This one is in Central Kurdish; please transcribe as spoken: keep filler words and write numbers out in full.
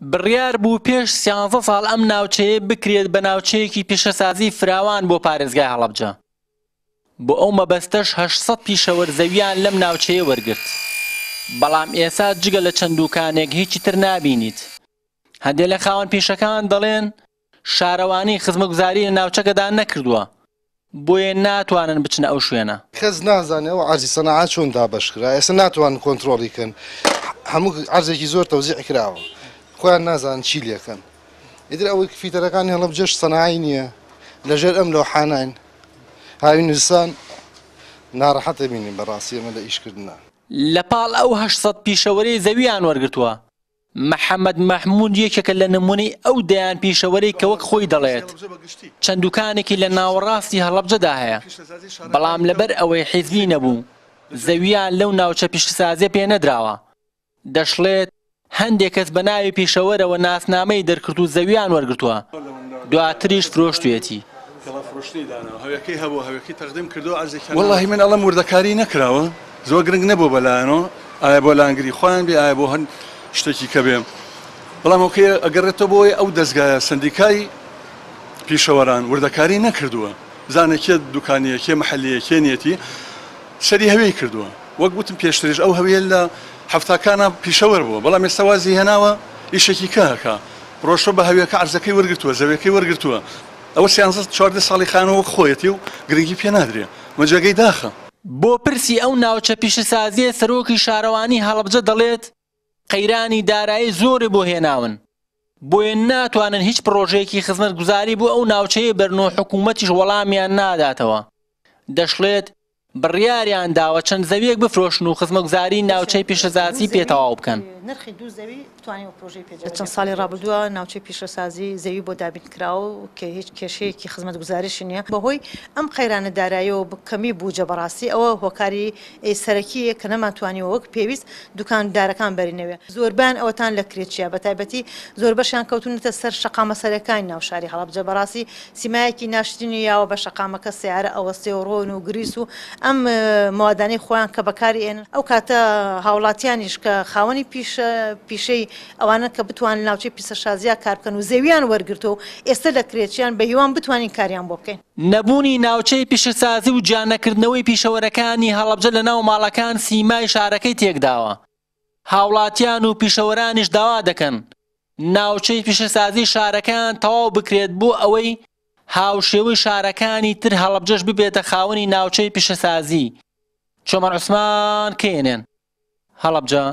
بڕیار بوو پێش سیانزە ساڵ ئەم ناوچەیە بکرێت بە ناوچەیەکی پیشەسازی فراوان بۆ پارێزگای هەڵەبجە. بۆ ئەو مەبەستەش هەشت سەد پیشەوەر زەویان لەم ناوچەیە وەرگرت. بەڵام ئێستا جگە لە چەند دوکانێک هیچی تر نابینیت. هەندێک لە خاوەن پیشەکان دەڵێن شارەوانی خزمەتگوزاری لە ناوچەکەدا نەکردووە، بۆیە ناتوانن بچنە ئەو شوێنە. کەس نازانێت ئەو عەرزی سەناعە چۆن دابەش کرا، ئێستا ناتوانن کۆنترۆڵی کەن، هەموو عەرزێکی زۆر تەوزیع کراوە، خۆیان نازانن چی لێکەن. ئیتر ئەوەی فیتەرەکانی هەڵەبجەش سەناعی نییە، لەژێر ئەم لەوحاناین هاوین نووسان ناڕەحەتە بینین بەڕاستی ئەمە لە ئیشکردنە. لە پاڵ ئەو هەشت سەد پیشەوەرەی زەویان وەرگرتووە، محەممەد مەحموود یەکێکە لە نمونەی ئەو دەیان پیشەوەرەی کە وەک خۆی دەڵێت چەند دوکانێکی لە ناوەڕاستی هەڵەبجەدا هەیە، بەڵام لەبەر ئەوەی حیزبی نەبوو زەویان لەو ناوچە پیشەسازیە پێ نەدراوە. دەشڵێت هەندێک کەس بە ناوی پیشەوەرەوە ناسنامەی دەرکرد و زەویان وەرگرتووە، دواتریش فرۆشتوێتی. وەڵاهی من ئەڵەم وردەکاری نەکراوە، زۆر گرنگ نەبوو بەلایەنەوە، ئایا بۆ لانگری خۆیان بێ ئایا بۆ هەن شتێکی کە بێ، بەڵام ئەوکەی ئەگەڕێتەوە بۆی ئەو دەستگایە سندیکای پیشەوەران وردەکاری نەکردووە، بزانێ کێ دوکانیە کێ محلیە کێ نیەتی، سەری هەوێی کردووە. وەک وتم پێشتریش ئەو هەویە لە هەفتاکانە پیشەوەر بووە، بەڵام ئێستا وازی هێناوە ئیشێکی کە هەکا ڕۆشتوە بە هەویەکە عەرزەکەی وەرگرتووە، زەویەکەی وەرگرتووە. ئەوە سیانزە چواردە ساڵی خانەوە وەک خۆیەتی و گرنگی پێ نادرێ، مەجێگەی داخە. بۆ پرسی ئەو ناوچە پیشەسازیە سەرۆکی شارەوانی هەڵەبجە دەڵێت قەیرانی دارایی زۆری بۆ هێناون، بۆیە ناتوانن هیچ پرۆژەیەکی خزمەتگوزاری بۆ ئەو ناوچەیە بەرن و حکوومەتیش وەڵامیان ناداتەوە. دەشڵێت بڕیاریان داوە چەند زەویەک بفرۆشن و خزمەتگوزاری ناوچەی پیشەسازی پێتەواو بکەن. لە چەند ساڵی ڕابردووە ناوچەی پیشەسازی زەوی بۆ دابین کراوە کە هیچ کێشەیەکی خزمەتگوزاریش نییە. بەهۆی ئەم قەیرانە داراییەوە کەمی بووجە بەڕاستی ئەوە هۆکاری سەرەکیە کە نەمانتوانیوە وەک پێویست دوکاندارەکان بەرینەوێ. زۆربیان ئەوەتان لە کرێچیە، بە تایبەتی زۆربەشیان کەوتونەتە سەر شەقامە سەرەکانی ناو شاری هەڵەبجە. بەڕاستی سیمایەکی ناشرینی یاوە بە شەقامەکە، سیارە ئەوەستێ و ڕۆن و گریس و ئەم موادانەی خۆیان کە بەکاری ئێنن. ئەو کاتە هاوڵاتیانیش کە خاوەنی پیشەی ئەوانە کە بتوانن ناوچەی پیشەسازیە کار بکەن و زەویان وەرگرتەوە و ئێستا لە کرێچیان بە هیوان بتوانین کاریان بۆ بکەین. نەبوونی ناوچەی پیشەسازی و جیانەکردنەوەی پیشەوەرەکانی هەڵەبجە لە ناو ماڵەکان سیمای شارەکەی تێکداوە. هاوڵاتیان و پیشەوەرانیش داوا دەکەن ناوچەی پیشەسازی شارەکان تەواو بکرێت بۆ ئەوەی هاوشێوەی شارەکانی تر هەڵەبجەش ببێتە خاوەنی ناوچەی پیشەسازی. چۆمان عوسمان، کێنێن، هەڵەبجە.